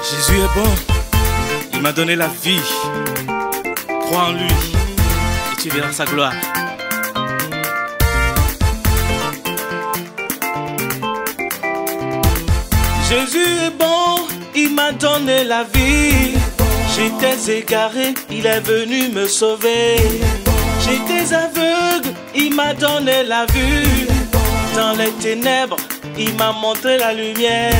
Jésus est bon. Il m'a donné la vie. Crois en lui et tu verras sa gloire. Jésus est bon, il m'a donné la vie. J'étais égaré, il est venu me sauver. J'étais aveugle, il m'a donné la vue. Dans les ténèbres, il m'a montré la lumière.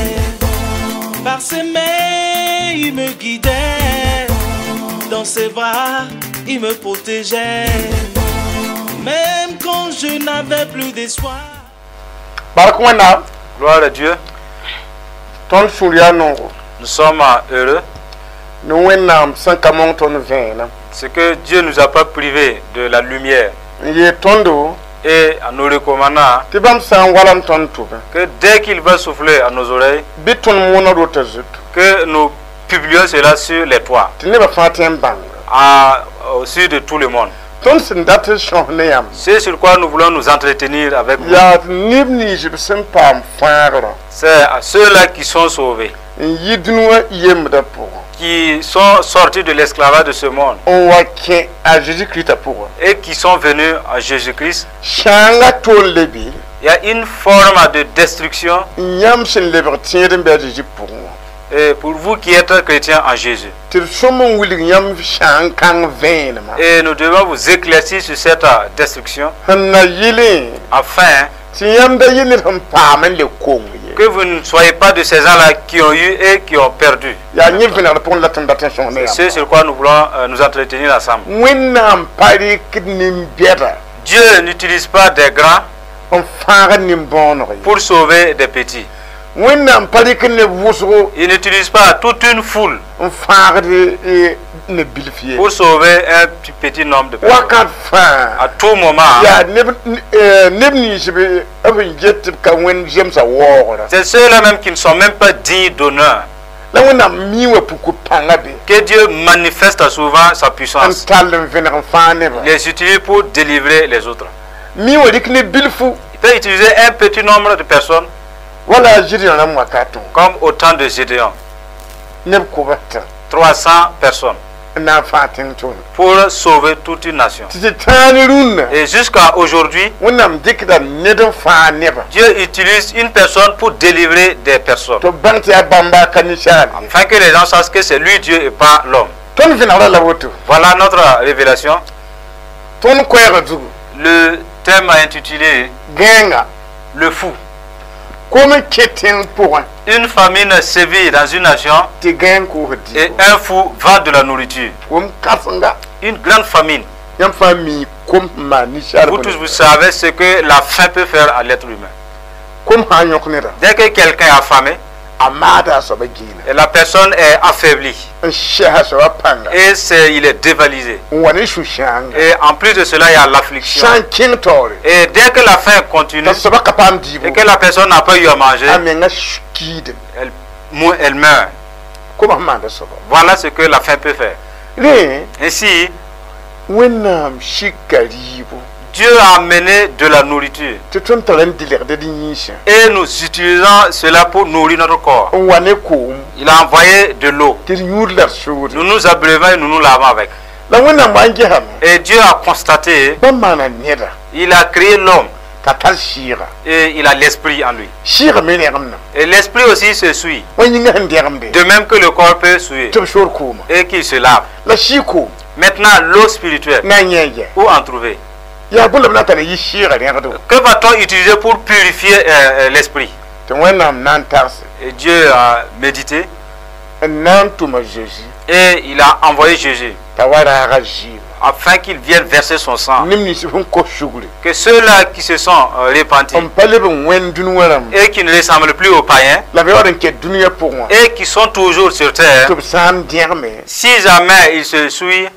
Par ses mains, il me guidait. Dans ses bras, il me protégeait. Même quand je n'avais plus d'espoir. Gloire à Dieu. Nous sommes heureux. Ce que Dieu ne nous a pas privé de la lumière. Et en nous recommandant que dès qu'il va souffler à nos oreilles, que nous publions cela sur les toits, au sud de tout le monde. C'est sur quoi nous voulons nous entretenir avec vous. C'est à ceux-là qui sont sauvés, qui sont sortis de l'esclavage de ce monde et qui sont venus à Jésus-Christ. Il y a une forme de destruction. Et pour vous qui êtes chrétiens en Jésus. Et nous devons vous éclaircir sur cette destruction afin que vous ne soyez pas de ces gens-là qui ont eu et qui ont perdu. C'est ce sur quoi nous voulons nous entretenir ensemble. Dieu n'utilise pas des grands pour sauver des petits. Il n'utilise pas toute une foule pour sauver un petit nombre de personnes. À tout moment, c'est ceux-là même qui ne sont même pas dignes d'honneur. Que Dieu manifeste souvent sa puissance. Il les utilise pour délivrer les autres. Il peut utiliser un petit nombre de personnes comme au temps de Gédéon. 300 personnes pour sauver toute une nation. Et jusqu'à aujourd'hui, Dieu utilise une personne pour délivrer des personnes, afin que les gens sachent que c'est lui Dieu et pas l'homme. Voilà notre révélation. Le thème intitulé Le fou. Une famine sévit dans une nation et un fou vend de la nourriture. Une grande famine. Vous tous, vous savez ce que la faim peut faire à l'être humain. Dès que quelqu'un est affamé, et la personne est affaiblie et il est dévalisé. Et en plus de cela, il y a l'affliction. Et dès que la faim continue et que la personne n'a pas eu à manger, elle meurt. Voilà ce que la faim peut faire. Ainsi, Dieu a amené de la nourriture. Et nous utilisons cela pour nourrir notre corps. Il a envoyé de l'eau. Nous nous abreuvons et nous nous lavons avec. Et Dieu a constaté, il a créé l'homme. Et il a l'esprit en lui. Et l'esprit aussi se suit. De même que le corps peut suer. Et qu'il se lave. Maintenant, l'eau spirituelle, où en trouver? Que va-t-on utiliser pour purifier l'esprit? Et Dieu a médité. Et il a envoyé Jésus afin qu'il vienne verser son sang. Que ceux-là qui se sont repentis et qui ne ressemblent plus aux païens et qui sont toujours sur terre, si jamais ils se suivent,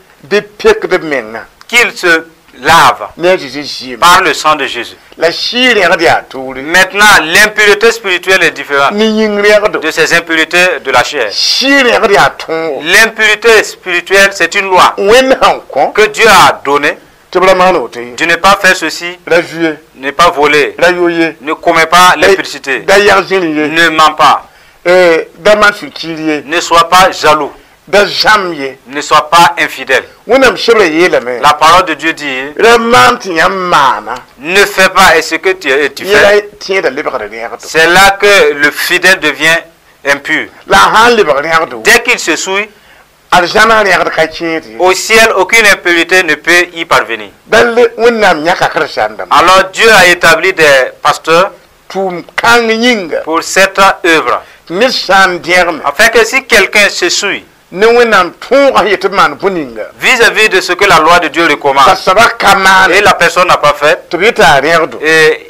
qu'ils se lave par le sang de Jésus. Maintenant, l'impureté spirituelle est différente de ces impuretés de la chair. L'impureté spirituelle, c'est une loi que Dieu a donnée de ne pas faire ceci, ne pas voler, ne commets pas l'impudicité, ne mens pas. Ne sois pas jaloux. Ne sois pas infidèle. La parole de Dieu dit, ne fais pas et ce que tu fais. C'est là que le fidèle devient impur. Dès qu'il se souille, au ciel, aucune impureté ne peut y parvenir. Alors Dieu a établi des pasteurs pour cette œuvre, afin que si quelqu'un se souille vis-à-vis de ce que la loi de Dieu recommande, et la personne n'a pas fait, et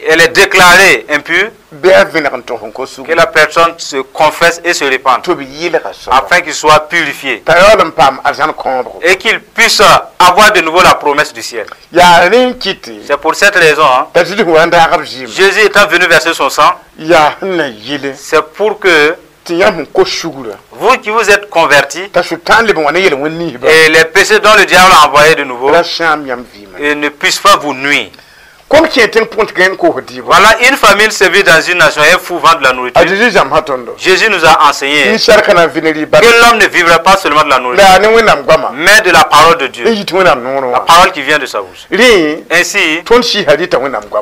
elle est déclarée impure, que la personne se confesse et se répande, afin qu'il soit purifié et qu'il puisse avoir de nouveau la promesse du ciel. C'est pour cette raison, hein, Jésus étant venu verser son sang, c'est pour que vous qui vous êtes convertis et les péchés dont le diable a envoyé de nouveau et ne puissent pas vous nuire. Voilà une famine sévit dans une nation et un fou vend de la nourriture. Jésus nous a enseigné que l'homme ne vivra pas seulement de la nourriture, mais de la parole de Dieu, la parole qui vient de sa bouche. Ainsi,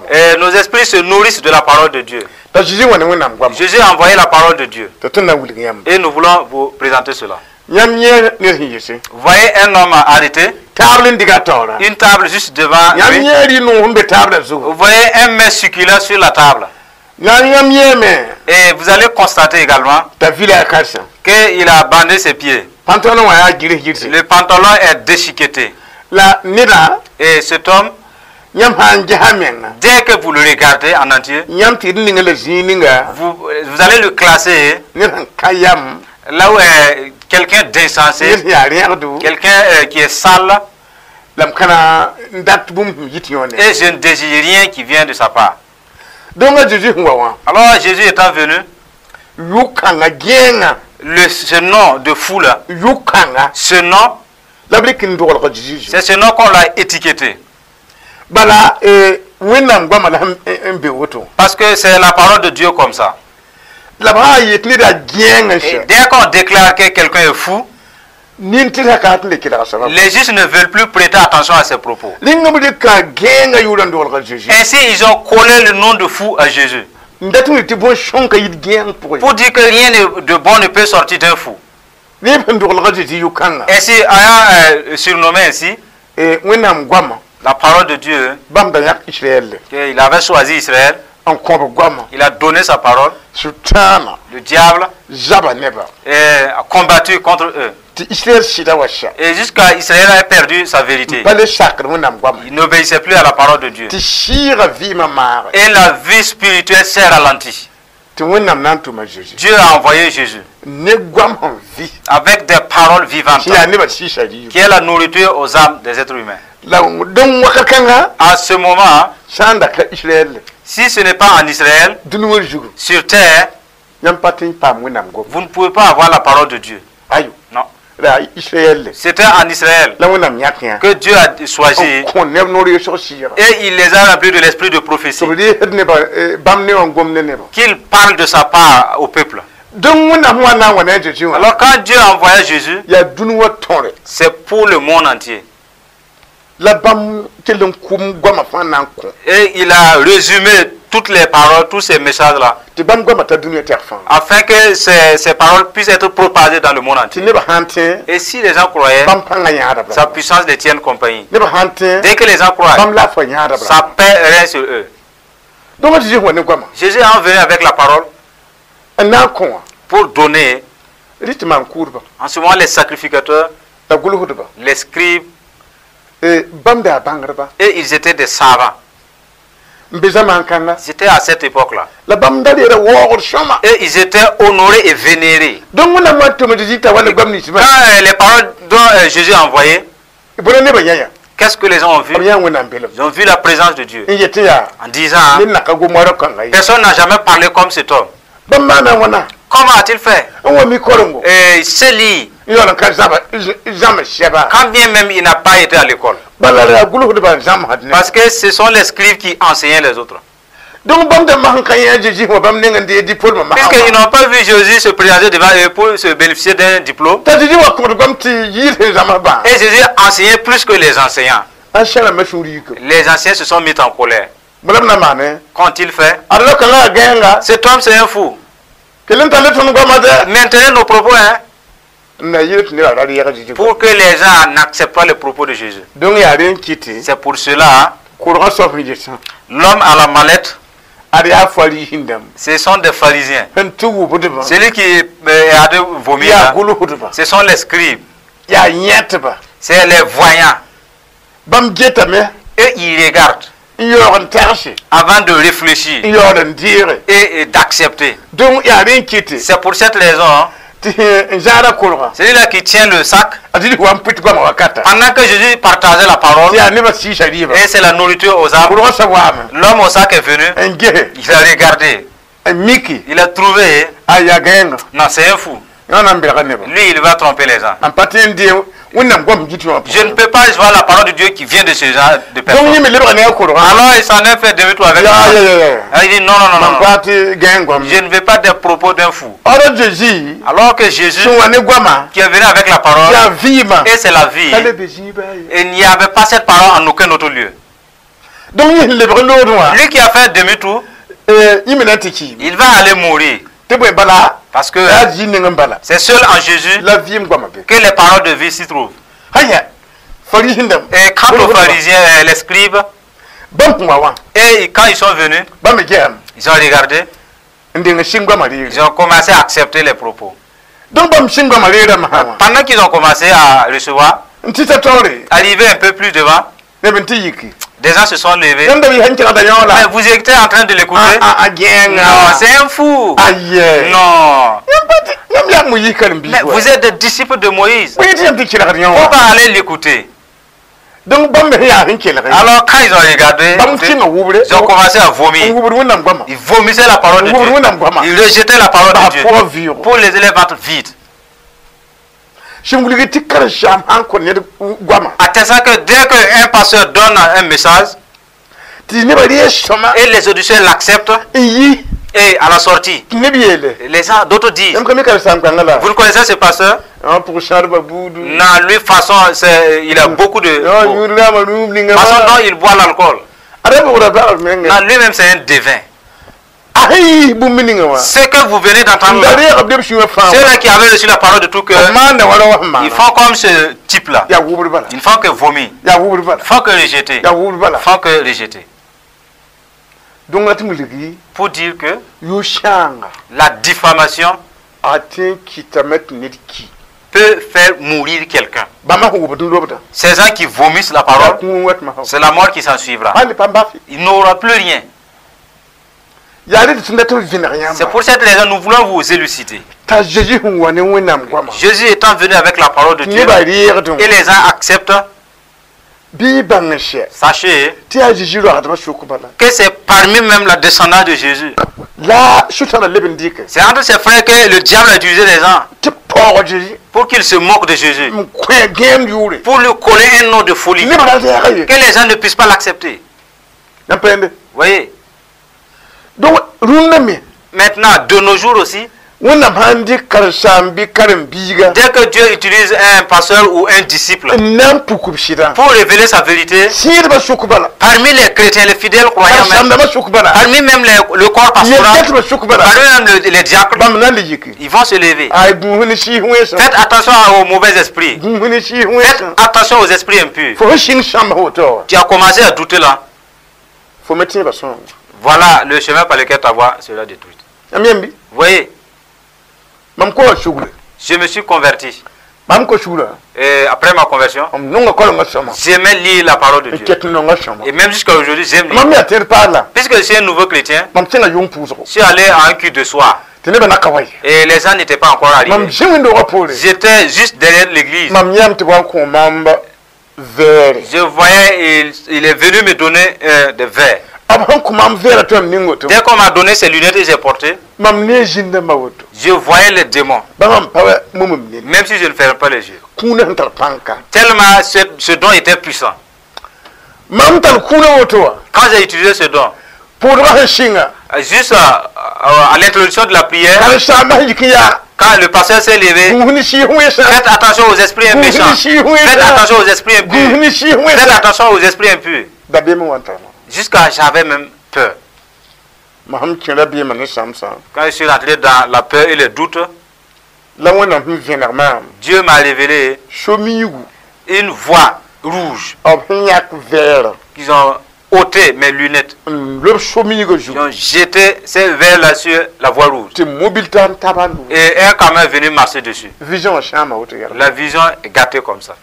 et nos esprits se nourrissent de la parole de Dieu. Jésus a envoyé la parole de Dieu. Et nous voulons vous présenter cela. Voyez un homme arrêté, une table juste devant lui. Vous voyez un mets succulent sur la table. Et vous allez constater également qu'il a bandé ses pieds. Le pantalon est déchiqueté. Et cet homme, dès que vous le regardez en entier, vous allez le classer là où est quelqu'un d'insensé, quelqu'un qui est sale, et je ne désire rien qui vient de sa part. Alors Jésus étant venu, ce nom de fou là, ce nom, c'est ce nom qu'on l'a étiqueté. Parce que c'est la parole de Dieu comme ça. Et dès qu'on déclare que quelqu'un est fou, les justes ne veulent plus prêter attention à ses propos. Ainsi, ils ont collé le nom de fou à Jésus. Pour dire que rien de bon ne peut sortir d'un fou. Ainsi, ayant surnommé ainsi, la parole de Dieu, qu'il avait choisi Israël, il a donné sa parole. Le diable a combattu contre eux. Et jusqu'à Israël a perdu sa vérité. Il n'obéissait plus à la parole de Dieu. Et la vie spirituelle s'est ralentie. Dieu a envoyé Jésus avec des paroles vivantes qui est la nourriture aux âmes des êtres humains. À ce moment, si ce n'est pas en Israël, sur terre, vous ne pouvez pas avoir la parole de Dieu. Non. C'était en Israël que Dieu a choisi et il les a remplis de l'esprit de prophétie. Qu'il parle de sa part au peuple. Alors quand Dieu a envoyé Jésus, c'est pour le monde entier. Et il a résumé toutes les paroles, tous ces messages-là, afin que ces paroles puissent être propagées dans le monde entier. Et si les gens croyaient, sa puissance les tienne compagnie. Dès que les gens croient, sa paix règne sur eux. Jésus est venu avec la parole pour donner. En ce moment, les sacrificateurs, les scribes, et ils étaient des savants. C'était à cette époque-là. Et ils étaient honorés et vénérés. Quand les paroles dont Jésus a envoyé, qu'est-ce que les gens ont vu? Ils ont vu la présence de Dieu. En disant, personne n'a jamais parlé comme cet homme. Comment a-t-il fait? Et c'est lui. Quand bien même il n'a pas été à l'école. Parce que ce sont les scribes qui enseignaient les autres. Puisqu'ils n'ont pas vu Jésus se présenter devant eux pour se bénéficier d'un diplôme. Et Jésus enseignait plus que les enseignants. Les anciens se sont mis en colère. Qu'ont-ils fait? Cet homme, c'est un fou. Maintenez nos propos, hein, pour que les gens n'acceptent pas les propos de Jésus. C'est pour cela, l'homme à la mallette, ce sont des pharisiens. Celui qui a de vomir, ce sont les scribes. C'est les voyants. Et ils regardent avant de réfléchir et d'accepter. C'est pour cette raison, celui-là qui tient le sac, pendant que Jésus partageait la parole, et c'est la nourriture aux arbres, l'homme au sac est venu, il a regardé, il a trouvé, non, c'est un fou. Lui, il va tromper les gens. Je ne peux pas voir la parole de Dieu qui vient de ce genre de personne. Alors il s'en est fait demi-tour avec moi. Il dit non, non, non, non. Je ne veux pas des propos d'un fou. Alors que Jésus, qui est venu avec la parole, et c'est la vie, et il n'y avait pas cette parole en aucun autre lieu. Lui qui a fait demi-tour, il va aller mourir. Parce que c'est seul en Jésus que les paroles de vie s'y trouvent. Et quant aux pharisiens, les scribes, et quand ils sont venus, ils ont regardé, ils ont commencé à accepter les propos. Pendant qu'ils ont commencé à recevoir, arrivé un peu plus devant, des gens se sont levés. Mais vous étiez en train de l'écouter. Non, c'est un fou. Non. Mais vous êtes des disciples de Moïse. Faut pas aller l'écouter. Alors quand ils ont regardé, ils ont commencé à vomir. Ils vomissaient la parole de Dieu. Ils rejetaient la parole de Dieu pour les élèves être vides. Attestant que dès qu'un pasteur donne un message, et les auditeurs l'acceptent, et à la sortie, les gens, d'autres disent, vous le connaissez ce pasteur? Non, lui, façon, il a beaucoup de... Façon dont il boit l'alcool. Non, lui-même, c'est un devin. Ce que vous venez d'entendre, ceux-là qui avaient reçu la parole de tout cœur, ils font comme ce type-là. Ils ne font que vomir, ils font que rejeter, ils font que rejeter. Pour dire que la diffamation peut faire mourir quelqu'un. Ces gens qui vomissent la parole, c'est la mort qui s'en suivra. Il n'aura plus rien. C'est pour cette raison que nous voulons vous élucider. Jésus étant venu avec la parole de Dieu, et les gens acceptent, sachez que c'est parmi même la descendance de Jésus. C'est entre ses frères que le diable a utilisé les gens pour qu'ils se moquent de Jésus, pour lui coller un nom de folie, que les gens ne puissent pas l'accepter. Voyez. Maintenant, de nos jours aussi, dès que Dieu utilise un pasteur ou un disciple pour révéler sa vérité, parmi les chrétiens, les fidèles croyants, même, parmi même le corps pastoral, parmi même les diacres, ils vont se lever. Faites attention aux mauvais esprits. Faites attention aux esprits impurs. Tu as commencé à douter là. Voilà le chemin par lequel ta voix sera détruite. Vous voyez, je me suis converti. Et après ma conversion, j'aimais lire la parole de Dieu. Et même jusqu'à aujourd'hui, j'aime lire. Puisque je suis un nouveau chrétien, je suis allé à un culte de soir. Et les gens n'étaient pas encore arrivés. J'étais juste derrière l'église. Je voyais, il est venu me donner des verres. Dès qu'on m'a donné ces lunettes que j'ai portées, je voyais les démons. Même si je ne ferme pas les yeux. Tellement ce don était puissant. Quand j'ai utilisé ce don, Juste à l'introduction de la prière, quand le pasteur s'est levé, faites attention aux esprits méchants. Faites attention aux esprits impurs. Faites attention aux esprits impurs. Jusqu'à j'avais même peur. Quand je suis rentré dans la peur et le doute, Dieu m'a révélé une voie rouge qu'ils ont ôté mes lunettes. Ils ont jeté ces verres-là sur la voie rouge. Et un camion est venu marcher dessus. La vision est gâtée comme ça.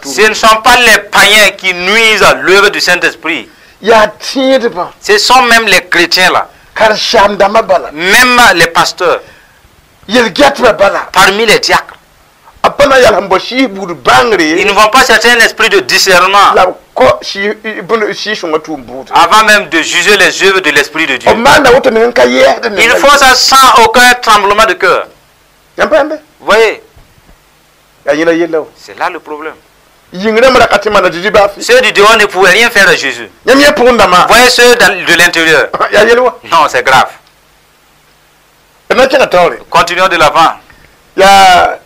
Ce ne sont pas les païens qui nuisent à l'œuvre du Saint-Esprit. Ce sont même les chrétiens là. Même les pasteurs. Parmi les diacres. Ils ne vont pas chercher un esprit de discernement avant même de juger les œuvres de l'Esprit de Dieu. Ils font ça sans aucun tremblement de cœur. Vous voyez? C'est là le problème. Ceux du dehors ne pouvaient rien faire à Jésus. Voyez ceux de l'intérieur. Non, c'est grave. Continuons de l'avant. Dans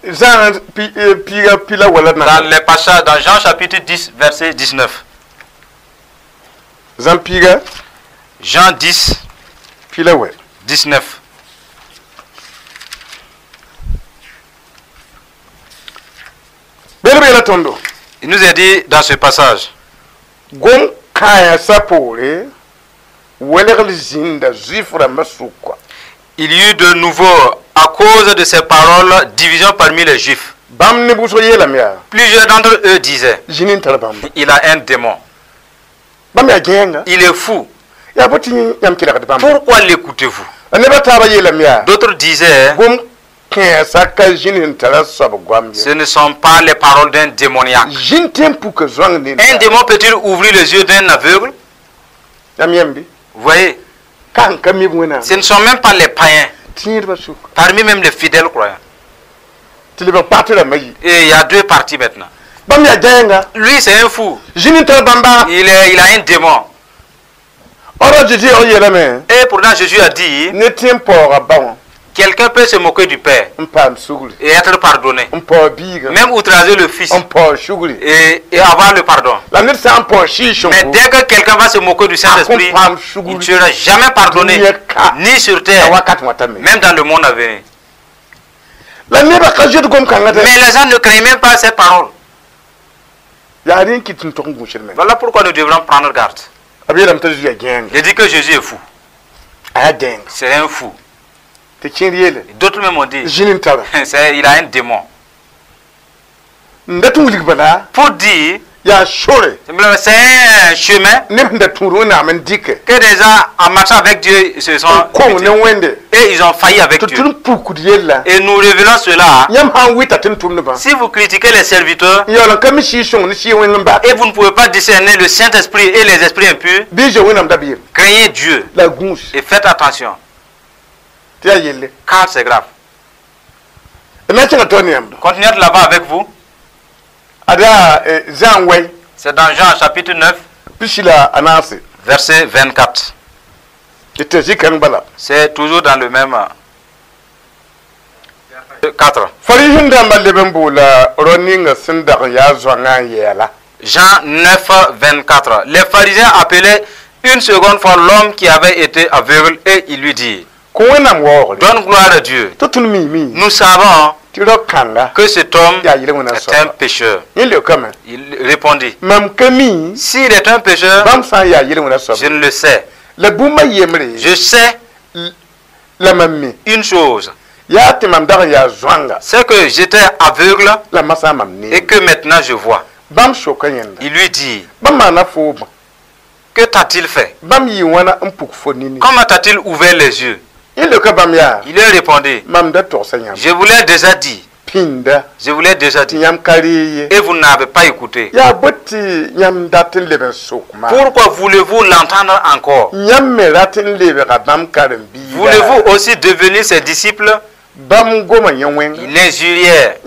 les passages, dans Jean chapitre 10, verset 19. Jean 10, 19. Il nous est dit dans ce passage. Il y eut de nouveau, à cause de ces paroles, division parmi les Juifs. Plusieurs d'entre eux disaient, il a un démon. Il est fou. Pourquoi l'écoutez-vous? D'autres disaient, ce ne sont pas les paroles d'un démoniaque. Un démon peut-il ouvrir les yeux d'un aveugle? Vous voyez? Ce ne sont même pas les païens. Parmi même les fidèles croyants. Et il y a deux parties maintenant. Lui, c'est un fou. Il a un démon. Et pourtant, Jésus a dit, quelqu'un peut se moquer du Père et être pardonné. Même outrager le Fils et avoir le pardon. Mais dès que quelqu'un va se moquer du Saint-Esprit, il ne sera jamais pardonné, ni sur terre, même dans le monde à venir. Mais les gens ne craignent même pas ces paroles. Voilà pourquoi nous devrons prendre garde. Il dit que Jésus est fou. C'est un fou. D'autres même ont dit, il a un démon. Pour dire, c'est un chemin que des gens en marchant avec Dieu se sont et ils ont failli avec Dieu. Et nous révélons cela. Si vous critiquez les serviteurs et vous ne pouvez pas discerner le Saint-Esprit et les esprits impurs, craignez Dieu et faites attention. Car c'est grave. Continuez de là-bas avec vous. C'est dans Jean chapitre 9, verset 24. C'est toujours dans le même 4. Jean 9, 24. Les pharisiens appelaient une seconde fois l'homme qui avait été aveugle et il lui dit, donne gloire à Dieu. Nous savons que cet homme est un pécheur. Il répondit, s'il est un pécheur, je ne le sais. Je sais une chose, c'est que j'étais aveugle et que maintenant je vois. Il lui dit, que t'a-t-il fait? Comment t'a-t-il ouvert les yeux? Il lui a répondu, je vous l'ai déjà dit. Je vous l'ai déjà dit. Et vous n'avez pas écouté. Pourquoi voulez-vous l'entendre encore? Voulez-vous aussi devenir ses disciples? Il l'injuriait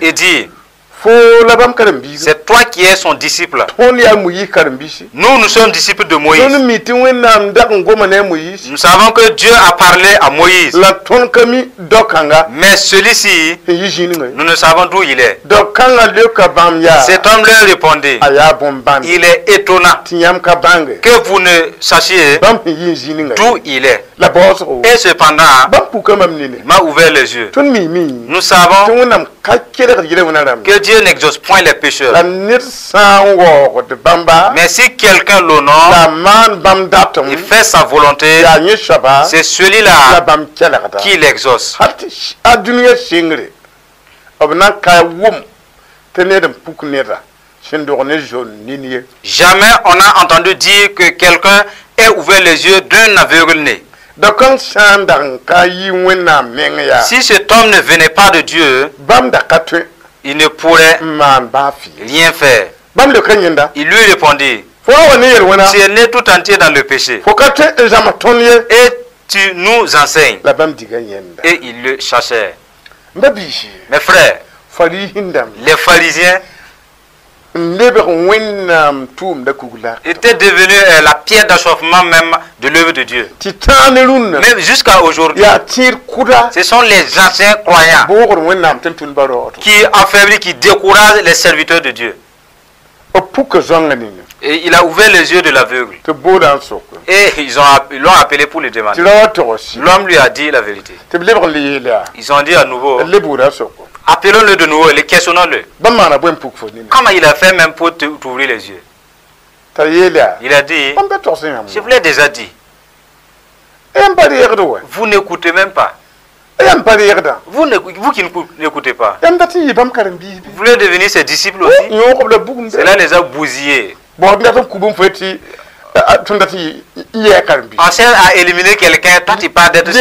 et dit, C'est toi qui es son disciple. Nous, nous sommes disciples de Moïse. Nous savons que Dieu a parlé à Moïse. Mais celui-ci, nous ne savons d'où il est. Cet homme leur répondit, il est étonnant que vous ne sachiez d'où il est. Et cependant, il m'a ouvert les yeux. Nous savons que Dieu n'exauce point les pécheurs. Mais si quelqu'un l'honore et fait sa volonté, c'est celui-là qui l'exauce. Jamais on n'a entendu dire que quelqu'un ait ouvert les yeux d'un aveugle né. Si cet homme ne venait pas de Dieu, il ne pourrait rien faire. Il lui répondit, tu es né tout entier dans le péché et tu nous enseignes. Et ils le chassèrent. Mes frères, les pharisiens étaient devenus la pierre d'achoppement même de l'œuvre de Dieu. Mais jusqu'à aujourd'hui, ce sont les anciens croyants qui affaiblissent, qui découragent les serviteurs de Dieu. Et il a ouvert les yeux de l'aveugle. Et ils l'ont appelé pour le demander. L'homme lui a dit la vérité. Ils ont dit à nouveau, appelons-le de nouveau et questionnons-le. Comment il a fait même pour t'ouvrir les yeux? Il a dit, je vous l'ai déjà dit. Vous n'écoutez même pas. Vous qui n'écoutez pas. Vous voulez devenir ses disciples aussi? Cela les a bousillés. On cherche à éliminer quelqu'un, toi tu parles d'être.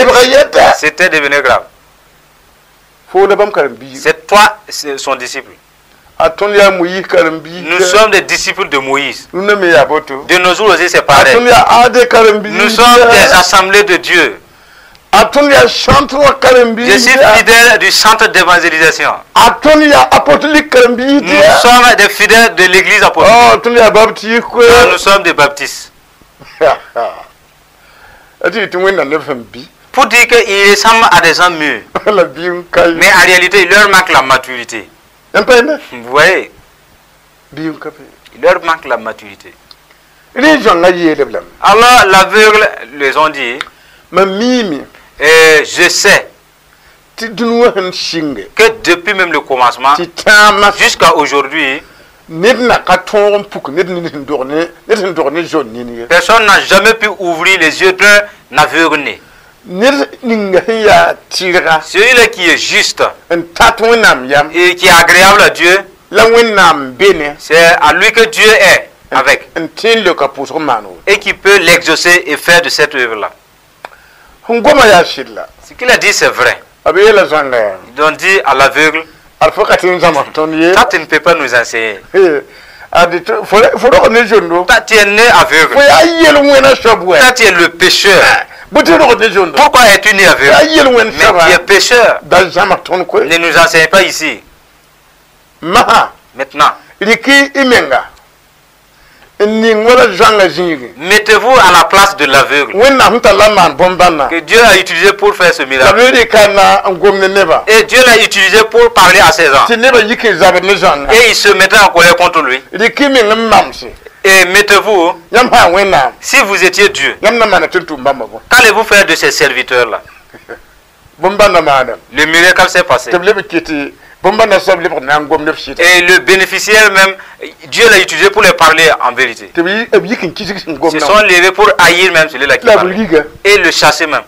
C'était devenu grave. C'est toi son disciple. Nous sommes des disciples de Moïse. De nos jours aussi, c'est pareil. Nous sommes des assemblées de Dieu. Je suis fidèle du centre d'évangélisation. Nous sommes des fidèles de l'église apostolique. Nous sommes des baptistes. Pour dire qu'ils ressemblent à des gens mûrs. Mais en réalité, il leur manque la maturité. Vous voyez? Il leur manque la maturité. Alors l'aveugle les ont dit, et je sais que depuis même le commencement jusqu'à aujourd'hui, personne n'a jamais pu ouvrir les yeux d'un aveugle né. Celui-là qui est juste et qui est agréable à Dieu, c'est à lui que Dieu est avec et qui peut l'exaucer et faire de cette œuvre-là. Ce qu'il a dit, c'est vrai. Ils ont dit à l'aveugle, toi tu ne peux pas nous enseigner. Toi tu es né aveugle. Toi tu es le pécheur. Pourquoi es-tu né aveugle? Mais tu es pécheur. Ne nous enseigne pas ici. Maintenant, mettez-vous à la place de l'aveugle que Dieu a utilisé pour faire ce miracle. Et Dieu l'a utilisé pour parler à ses gens. Et il se mettait en colère contre lui. Et mettez-vous, si vous étiez Dieu, qu'allez-vous faire de ces serviteurs-là? Le miracle s'est passé. Et le bénéficiaire même, Dieu l'a utilisé pour les parler en vérité. Ils se sont levés pour haïr même celui-là qui parlait. Et le chasser même.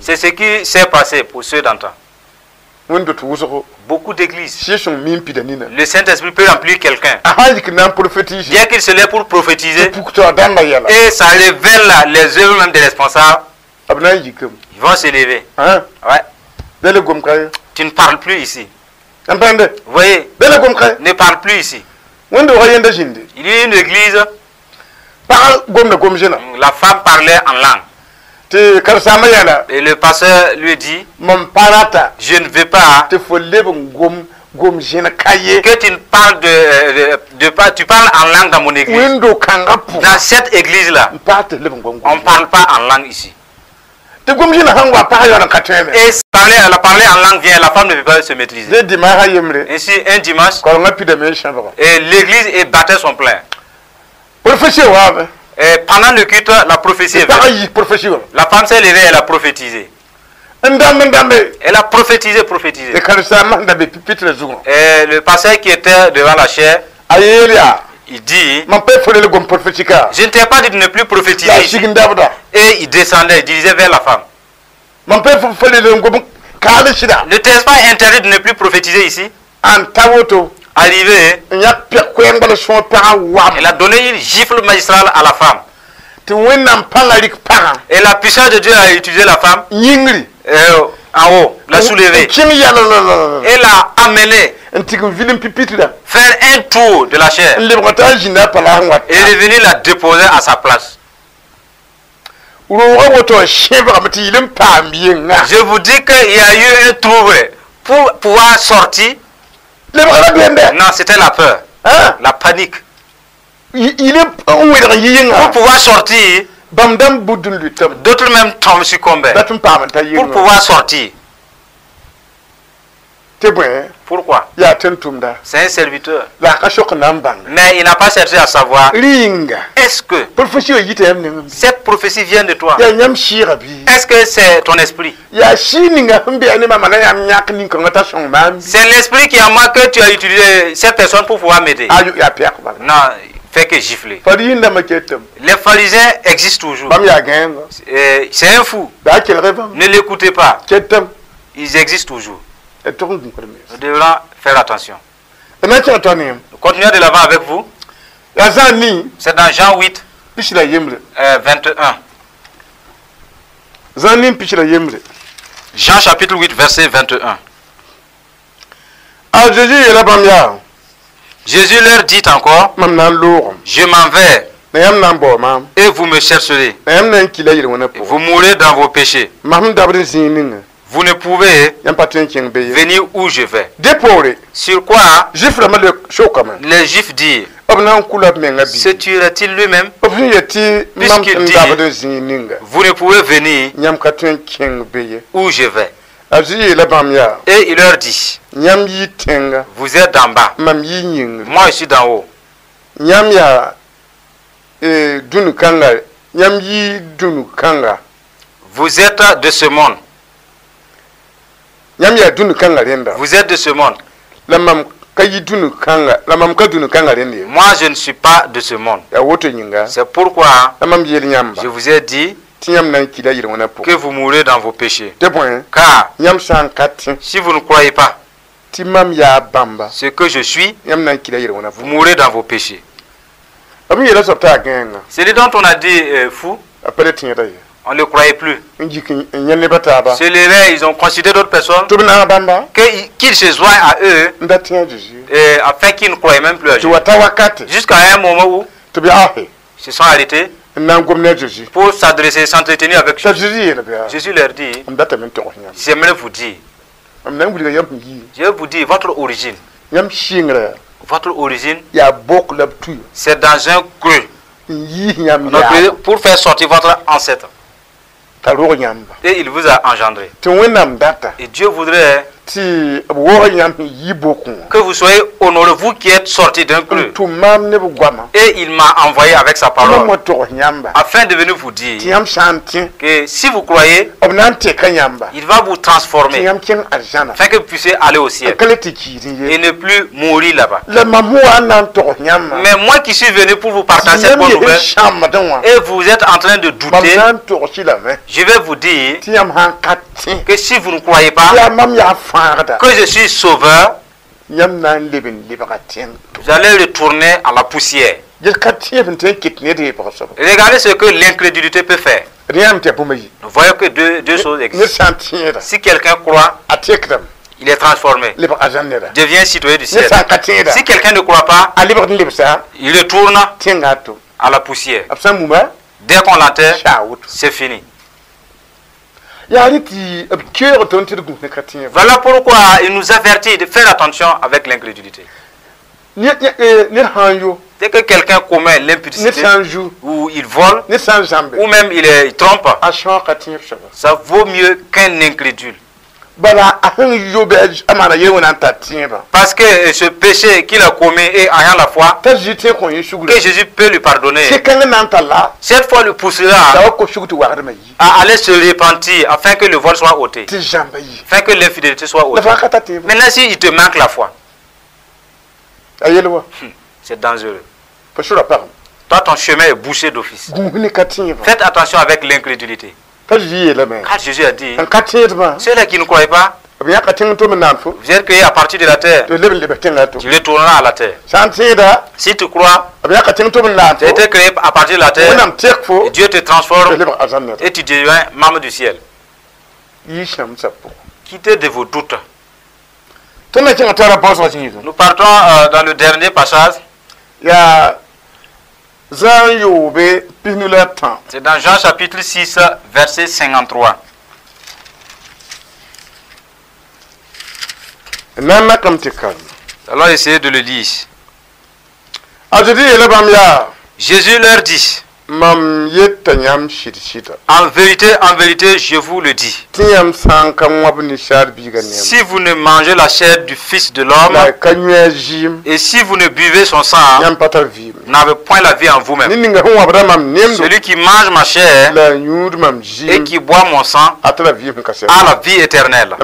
C'est ce qui s'est passé pour ceux d'antan. Beaucoup d'églises. Le Saint-Esprit peut remplir quelqu'un. Bien qu'il se lève pour prophétiser. Et ça révèle les œuvres même des responsables. Ils vont se lever. Ouais. Tu ne parles plus ici. Vous voyez? Ne parle plus ici. Il y a une église. La femme parlait en langue. Et le pasteur lui dit, je ne veux pas Que tu parles tu parles en langue dans mon église. Dans cette église-là, on ne parle pas en langue ici. Et parler, la parler en langue vient, la femme ne peut pas se maîtriser. Ainsi, un dimanche, et l'église battait son plein. Et pendant le culte, la prophétie est venue. La femme s'est levée, elle a prophétisé. Elle a prophétisé, prophétisé. Et le pasteur qui était devant la chaire, il dit, je ne t'ai pas dit de ne plus prophétiser. Et il descendait, il disait vers la femme. Ne t'es pas interdit de ne plus prophétiser ici? Arrivé, elle a donné une gifle magistrale à la femme. Et la puissance de Dieu a utilisé la femme en haut, l'a soulevée. Et l'a amenée faire un tour de la chaire. Et elle est venue la déposer à sa place. Je vous dis qu'il y a eu un trouble pour pouvoir sortir. Non, c'était la peur, la panique. Pour pouvoir sortir, d'autres même tombent succombaient. Pour pouvoir sortir. Pourquoi? C'est un serviteur. Mais il n'a pas cherché à savoir, est-ce que cette prophétie vient de toi? Est-ce que c'est ton esprit? C'est l'esprit qui a moi que tu as utilisé cette personne pour pouvoir m'aider. Non, fait que gifler. Les pharisiens existent toujours. C'est un fou. Ne l'écoutez pas. Ils existent toujours. Nous devrons faire attention. Nous continuons de l'avant avec vous. C'est dans Jean 8, 21. Jean chapitre 8, verset 21. Jésus leur dit encore, je m'en vais et vous me chercherez. Vous mourrez dans vos péchés. Vous ne pouvez venir où je vais. Sur quoi les Juifs disent, se tuerait-il lui-même? Puisqu'il dit, vous ne pouvez venir où je vais. Et il leur dit, vous êtes d'en bas, moi je suis d'en haut. Vous êtes de ce monde. Vous êtes de ce monde. Moi, je ne suis pas de ce monde. C'est pourquoi je vous ai dit que vous mourrez dans vos péchés. Car si vous ne croyez pas ce que je suis, vous mourrez dans vos péchés. Celui dont on a dit fou, on ne le croyait plus. Se levaient, ils ont considéré d'autres personnes qu'ils se joignent à eux et afin qu'ils ne croyaient même plus à Jésus. Jusqu'à un moment où ils se sont arrêtés pour s'adresser, s'entretenir avec Jésus. Jésus leur dit, j'aimerais vous dire, je vais vous dire votre origine. Votre origine, c'est dans un creux. Pour faire sortir votre ancêtre. Et il vous a engendré. Et Dieu voudrait que vous soyez honorés, vous qui êtes sortis d'un creux. Et il m'a envoyé avec sa parole afin de venir vous dire que si vous croyez, il va vous transformer afin que vous puissiez aller au ciel et ne plus mourir là-bas. Mais moi qui suis venu pour vous partager cette bonne nouvelle, et vous êtes en train de douter, je vais vous dire que si vous ne croyez pas que je suis sauveur, vous allez retourner à la poussière. Regardez ce que l'incrédulité peut faire. Nous voyons que deux choses existent. Si quelqu'un croit, il est transformé, devient citoyen du ciel. Si quelqu'un ne croit pas, il retourne à la poussière. Dès qu'on l'enterre, c'est fini. Voilà pourquoi il nous avertit de faire attention avec l'incrédulité. Dès que quelqu'un commet l'impudicité, ou il vole, ou même il trompe, ça vaut mieux qu'un incrédule. Parce que ce péché qu'il a commis et ayant la foi, que Jésus peut lui pardonner, cette fois le poussera à aller se repentir afin que le vol soit ôté, afin que l'infidélité soit ôtée. Maintenant, si il te manque la foi, c'est dangereux. Toi, ton chemin est bouché d'office. Faites attention avec l'incrédulité. Car Jésus a dit, ceux-là qui ne croient pas, vous êtes créés à partir de la terre, tu retourneras à la terre. Si tu crois, tu as été créé à partir de la terre, et Dieu te transforme et tu deviens membre du ciel. Quittez de vos doutes. Nous partons dans le dernier passage. C'est dans Jean chapitre 6, verset 53. Allons essayer de le lire. Jésus leur dit, en vérité, je vous le dis, si vous ne mangez la chair du Fils de l'homme et si vous ne buvez son sang, vous n'avez point la vie en vous-même. Celui qui mange ma chair et qui boit mon sang a la vie éternelle. Je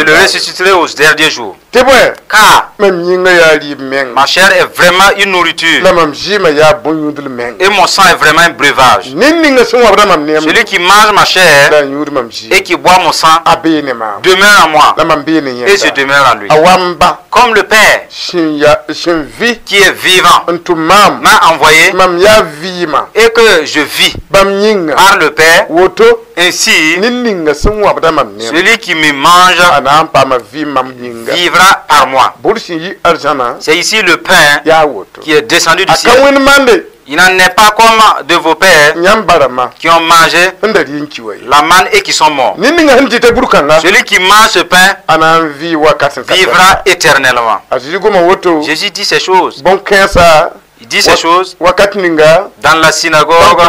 le ressusciterai au dernier jour. Car ma chair est vraiment une nourriture et mon sang est vraiment un breuvage. Celui qui mange ma chair et qui boit mon sang demeure en moi et je demeure en lui. Comme le Père qui est vivant m'a envoyé et que je vis par le Père, ainsi celui qui me mange vivra par moi. C'est ici le pain qui est descendu du ciel. Il n'en est pas comme de vos pères qui ont mangé la manne et qui sont morts. Celui qui mange ce pain vivra éternellement. Jésus dit ces choses. Il dit ces choses dans la synagogue,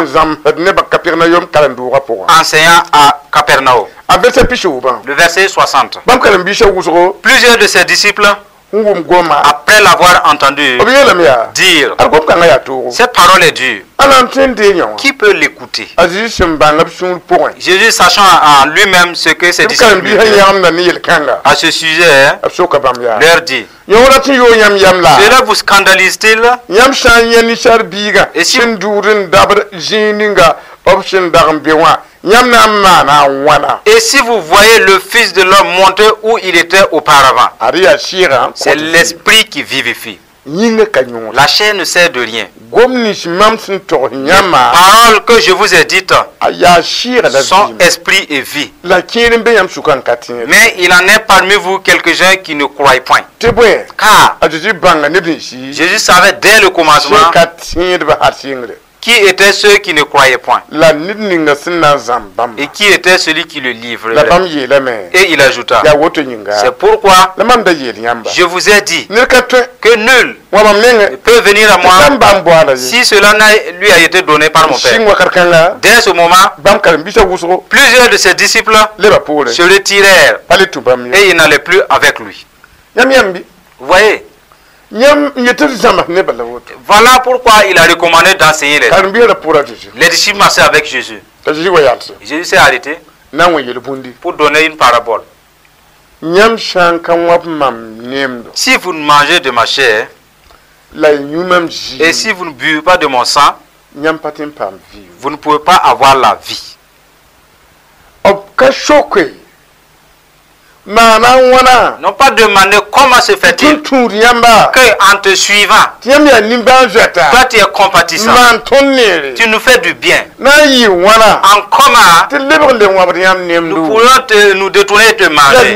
enseignant à Capernaum. Le verset 60. Plusieurs de ses disciples, après l'avoir entendu dire, cette parole est dure, qui peut l'écouter? Jésus, sachant en lui-même ce que ses disciples à ce sujet, leur dit, cela vous scandalise-t-il? Et si vous voyez le Fils de l'homme monter où il était auparavant, c'est l'esprit qui vivifie. La chair ne sert de rien. Les paroles que je vous ai dites sont esprit et vie. Mais il en est parmi vous quelques-uns qui ne croient point. Car Jésus savait dès le commencement qui étaient ceux qui ne croyaient point et qui était celui qui le livrait. Et il ajouta, c'est pourquoi je vous ai dit que nul ne peut venir à moi si cela lui a été donné par mon Père. Dès ce moment, plusieurs de ses disciples se retirèrent et ils n'allaient plus avec lui. Vous voyez? Voilà pourquoi il a recommandé d'enseigner les gens. Les disciples marchaient avec Jésus. Jésus s'est arrêté pour donner une parabole. Si vous ne mangez de ma chair et si vous ne buvez pas de mon sang, vous ne pouvez pas avoir la vie. N'ont pas demandé comment se fait-il que en te suivant, toi tu es compatissant, tu nous fais du bien. En comment nous pourrions nous détourner et te manger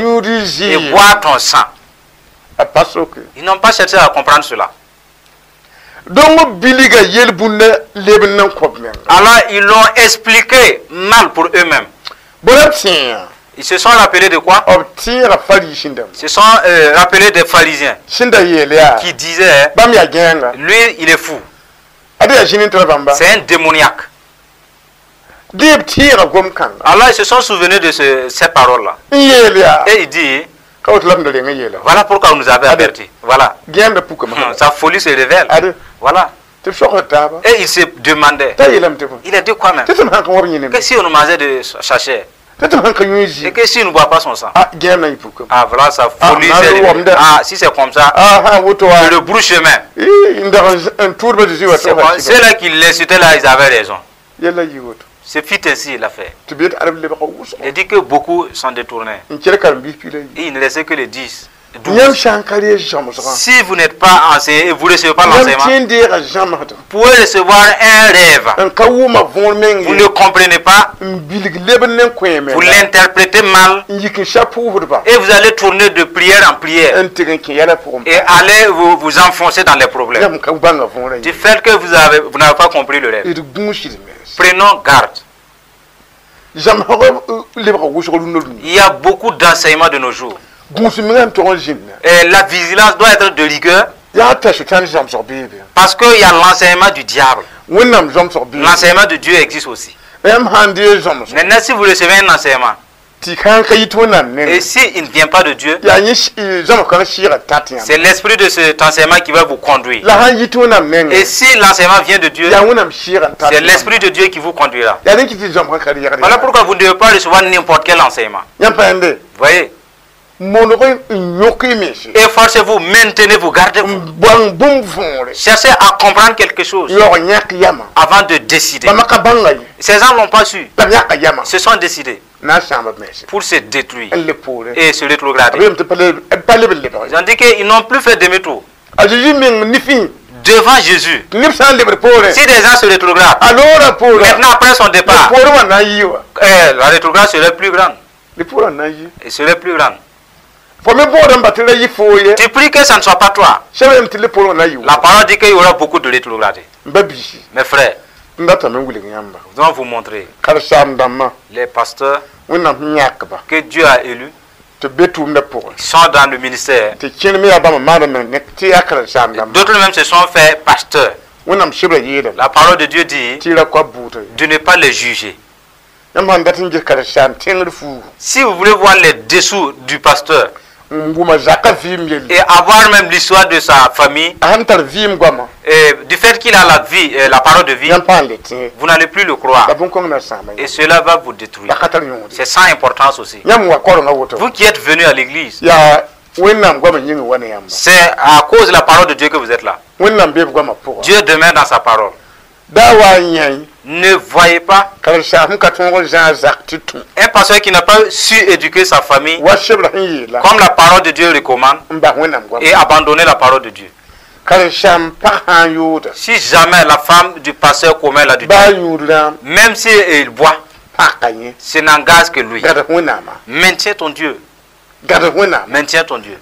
et boire ton sang. Ils n'ont pas cherché à comprendre cela. Alors ils l'ont expliqué mal pour eux-mêmes. Ils se sont rappelés de quoi? Ils se sont rappelés des pharisiens qui disaient, lui, il est fou. C'est un démoniaque. Alors ils se sont souvenus de ces paroles-là. Et il dit, voilà pourquoi on nous avait averti. Voilà. Sa folie se révèle. Voilà. Et il se demandait. Il a dit quoi même? Que si on nous mangeait de sachet? Et que s'il ne boit pas son sang? Ah voilà, sa folie s'est révélée. Ah, si c'est comme ça, je le brousse chemin. C'est là qu'il l'insultait là, ils avaient raison. C'est fit ainsi l'affaire. Il dit que beaucoup s'en détournaient. Et il ne restait que les 10. 12. Si vous n'êtes pas enseigné et vous ne recevez pas l'enseignement, vous pouvez recevoir un rêve. Vous ne comprenez pas, vous l'interprétez mal et vous allez tourner de prière en prière et allez vous enfoncer dans les problèmes. Du fait que vous n'avez pas compris le rêve. Prenons garde. Il y a beaucoup d'enseignements de nos jours. Et la vigilance doit être de rigueur parce qu'il y a l'enseignement du diable. L'enseignement de Dieu existe aussi. Maintenant, si vous recevez un enseignement et s'il ne vient pas de Dieu, c'est l'esprit de cet enseignement qui va vous conduire. Et si l'enseignement vient de Dieu, c'est l'esprit de Dieu qui vous conduira. Voilà pourquoi vous ne devez pas recevoir n'importe quel enseignement. Vous voyez? Efforcez-vous, maintenez-vous, gardez-vous. Cherchez à comprendre quelque chose avant de décider. Ces gens n'ont pas su. Se sont décidés pour se détruire et se rétrograder. Ils ont dit qu'ils n'ont plus fait demi-tour. Devant Jésus, si des gens se rétrogradent, maintenant après son départ, la rétrograde serait plus grande. Il serait plus grande. Tu pries que ça ne soit pas toi. La parole dit qu'il y aura beaucoup de rétrogradés. Mes frères, nous allons vous montrer les pasteurs que Dieu a élus sont dans le ministère. D'autres même se sont fait pasteurs. La parole de Dieu dit de ne pas les juger. Si vous voulez voir les dessous du pasteur et avoir même l'histoire de sa famille, et du fait qu'il a la vie, la parole de vie, vous n'allez plus le croire. Et cela va vous détruire. C'est sans importance aussi. Vous qui êtes venus à l'église, c'est à cause de la parole de Dieu que vous êtes là. Dieu demeure dans sa parole. Ne voyez pas un pasteur qui n'a pas su éduquer sa famille comme la parole de Dieu recommande et abandonner la parole de Dieu. Si jamais la femme du pasteur commet l'adultère, même si il boit, ce n'engage que lui. Maintiens ton Dieu. Maintiens ton Dieu.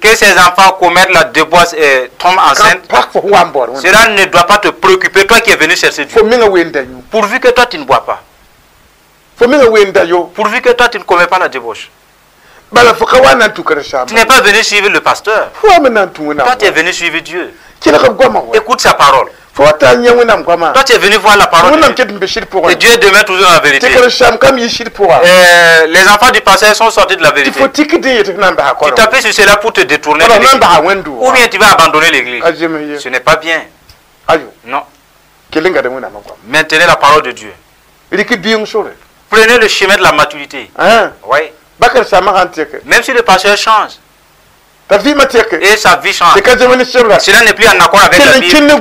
Que ses enfants commettent la débauche et tombent enceintes, cela ne doit pas te préoccuper, toi qui es venu chercher Dieu. Pourvu que toi tu ne bois pas. Pourvu que toi tu ne commets pas la débauche. Tu n'es pas venu suivre le pasteur. Toi tu es venu suivre Dieu. Écoute sa parole. Toi, tu es venu voir la parole de Dieu. Et Dieu demeure toujours dans la vérité. Et les enfants du pasteur sont sortis de la vérité. Tu t'appuies sur cela pour te détourner de l'église. Ou bien tu vas abandonner l'église. Ce n'est pas bien. Non. Maintenez la parole de Dieu. Prenez le chemin de la maturité. Oui. Même si le pasteur change, et sa vie change, cela n'est plus en accord avec la Bible.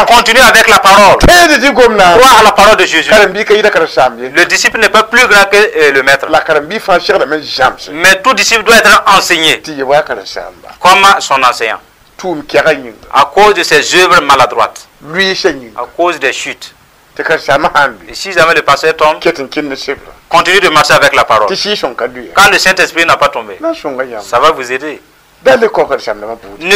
Continue avec la parole. Crois à la parole de Jésus. Le disciple n'est pas plus grand que le maître. Mais tout disciple doit être enseigné comme son enseignant. À cause de ses œuvres maladroites, à cause des chutes. Et si jamais le pasteur tombe, continue de marcher avec la parole. Quand le Saint-Esprit n'a pas tombé, ça va vous aider. Ne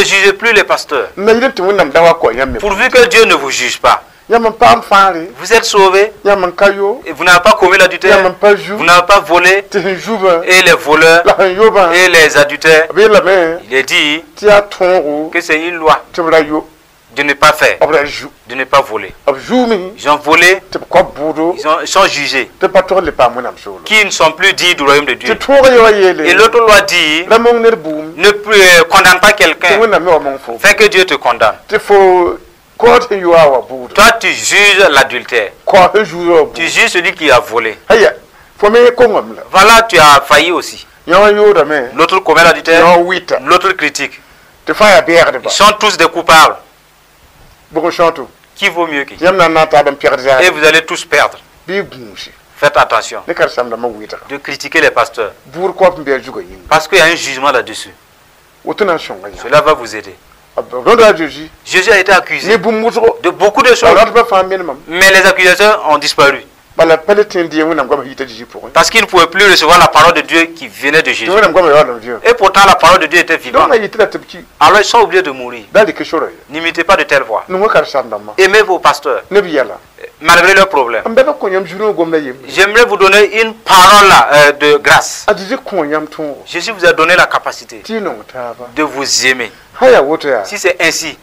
jugez plus les pasteurs. Pourvu que Dieu ne vous juge pas. Vous êtes sauvés. Et vous n'avez pas commis l'adultère. Vous n'avez pas volé. Et les voleurs et les adultères. Il est dit que c'est une loi de ne pas faire, de ne pas voler. Ils ont volé, ils sont jugés, qui ne sont plus dignes du royaume de Dieu. Et l'autre loi dit, ne condamne pas quelqu'un, fais que Dieu te condamne. Toi, tu juges l'adultère. Tu juges celui qui a volé. Voilà, tu as failli aussi. L'autre commet l'adultère, l'autre critique. Ils sont tous des coupables. Qui vaut mieux qui? Et vous allez tous perdre. Faites attention de critiquer les pasteurs. Parce qu'il y a un jugement là-dessus. Cela va vous aider. Jésus a été accusé de beaucoup de choses. Mais les accusations ont disparu. Parce qu'il ne pouvait plus recevoir la parole de Dieu qui venait de Jésus. Et pourtant la parole de Dieu était vivante. Alors ils sont obligés de mourir. N'imitez pas de telle voie. Aimez vos pasteurs. Malgré leurs problèmes. J'aimerais vous donner une parole de grâce. Jésus vous a donné la capacité de vous aimer. Si c'est ainsi,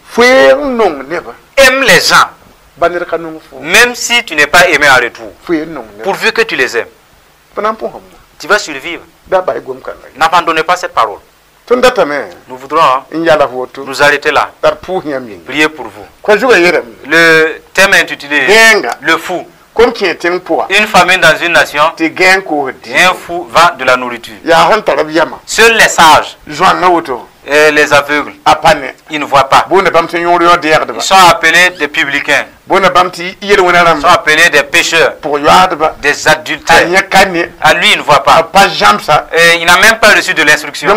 aime les gens. Même si tu n'es pas aimé en retour, pourvu que tu les aimes, tu vas survivre. N'abandonnez pas cette parole. Nous voudrons nous arrêter là. Prier pour vous. Le thème est intitulé Le fou. Une famine dans une nation, et un fou vend de la nourriture. Seuls les sages et les aveugles, ils ne voient pas. Ils sont appelés des publicains. Ils sont appelés des pécheurs, des adultères. À lui, il ne voit pas. Et il n'a même pas reçu de l'instruction.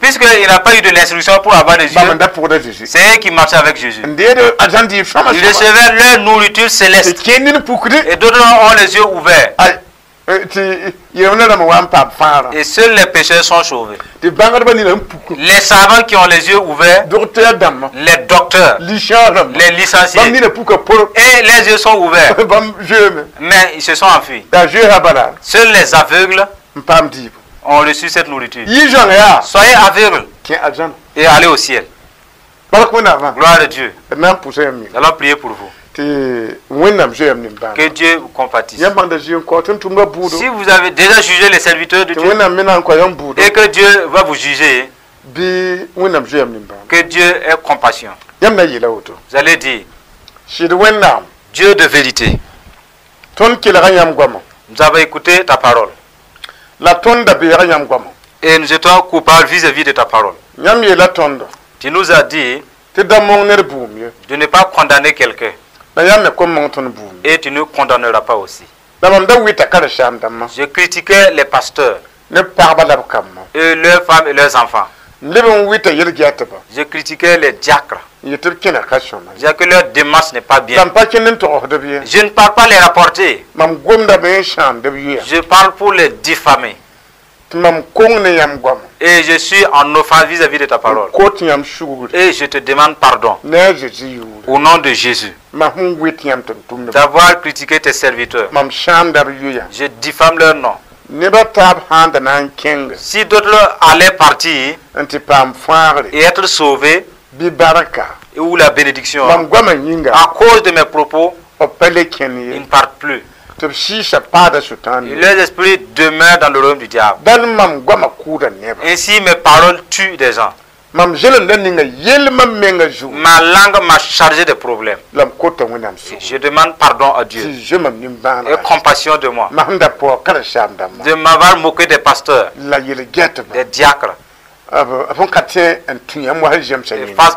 Puisqu'il n'a pas eu de l'instruction pour avoir des yeux, c'est eux qui marchaient avec Jésus. Ils recevaient leur nourriture céleste. Et d'autres ont les yeux ouverts. Et seuls les pécheurs sont sauvés. Les savants qui ont les yeux ouverts, les docteurs, les licenciés, et les yeux sont ouverts, mais ils se sont enfuis. Seuls les aveugles ont reçu cette nourriture. Soyez aveugles et allez au ciel. Gloire à Dieu. Nous allons prier pour vous. Que Dieu vous compatisse. Si vous avez déjà jugé les serviteurs de Dieu et que Dieu va vous juger, que Dieu ait compassion. Vous allez dire, Dieu de vérité, nous avons écouté ta parole et nous étions coupables vis-à-vis de ta parole. Tu nous as dit de ne pas condamner quelqu'un. Et tu ne condamneras pas aussi. Je critiquais les pasteurs et leurs femmes et leurs enfants. Je critiquais les diacres. Je disais que leur démarche n'est pas bien. Je ne parle pas les rapporter. Je parle pour les diffamer. Et je suis en offense vis-à-vis de ta parole. Et je te demande pardon. Au nom de Jésus. D'avoir critiqué tes serviteurs. Je diffame leur nom. Si d'autres allaient partir et être sauvés, ou la bénédiction, à cause de mes propos, ils ne partent plus. Et leurs esprits demeurent dans le royaume du diable. Ainsi mes paroles tuent des gens. Ma langue m'a chargé de problèmes. Je demande pardon à Dieu et compassion de moi, de m'avoir moqué des pasteurs, des diacres,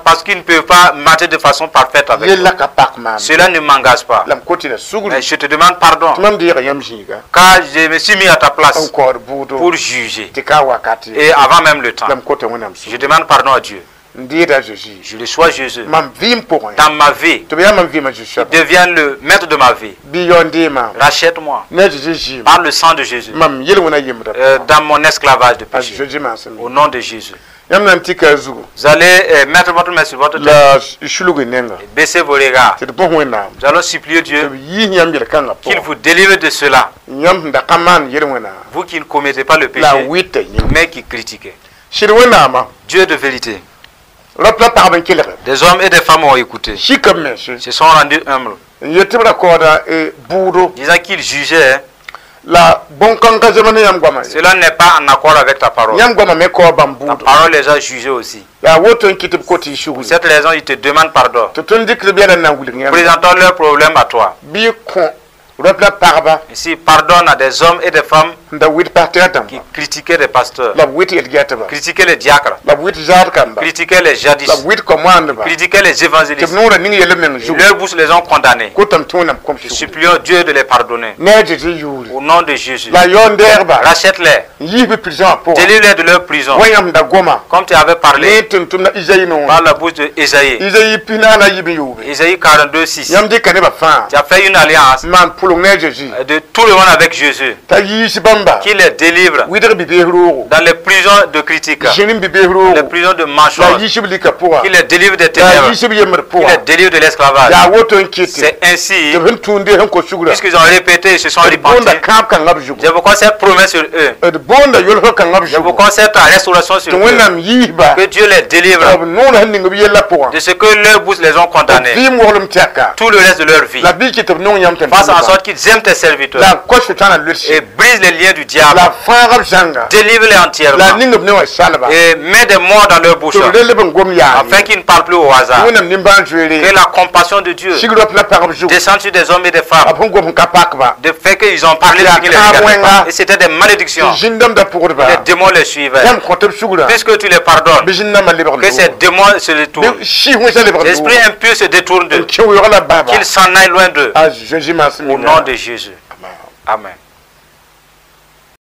parce qu'ils ne peuvent pas marcher de façon parfaite avec toi. Cela ne m'engage pas. Mais je te demande pardon, car je me suis mis à ta place pour juger. Et avant même le temps, je demande pardon à Dieu. Je reçois Jésus dans ma vie. Il devient le maître de ma vie. Rachète-moi par le sang de Jésus dans mon esclavage de péché. Au nom de Jésus. Vous allez mettre votre main sur votre tête et baisser vos regards. Nous allons supplier Dieu qu'il vous délivre de cela. Vous qui ne commettez pas le péché, mais qui critiquez. Dieu de vérité. Des hommes et des femmes ont écouté. Se sont rendus humbles. Disant qu'ils jugeaient. Cela n'est pas en accord avec ta parole. Ta parole les a jugés aussi. Pour cette raison, ils te demandent pardon. Présentons leurs problèmes à toi. Ici, pardonne à des hommes et des femmes qui critiquaient les pasteurs, critiquaient les diacres, critiquaient les jadis, critiquaient les évangélistes. Leurs bouches les ont condamnés. Supplions Dieu de les pardonner. Au nom de Jésus. Rachète-les. Délivre-les de leur prison. Comme tu avais parlé par la bouche de Ésaïe. Ésaïe 42, 6. Tu as fait une alliance de tout le monde avec Jésus, qui les délivre dans les prisons de critiques, les prisons de mensonges, qui les délivre des ténèbres, qui les délivre de l'esclavage. C'est ainsi, puisqu'ils ont répété et se sont repentis, c'est pourquoi cette promesse sur eux, c'est pourquoi cette restauration sur eux, que Dieu les délivre de ce que leurs bouches les ont condamnés tout le reste de leur vie. Fasse en sorte qu'ils aiment tes serviteurs et brise les liens du diable. Délivre-les entièrement et mets des morts dans leur bouche afin qu'ils ne parlent plus au hasard. Que la compassion de Dieu descende sur des hommes et des femmes, de fait qu'ils ont parlé de ce qui les regardait pas. Et c'était des malédictions. Les démons les suivaient. Puisque tu les pardonnes, que ces démons se détournent. L'esprit impur se détourne d'eux. Qu'ils s'en aillent loin d'eux. Au nom de Jésus. Amen.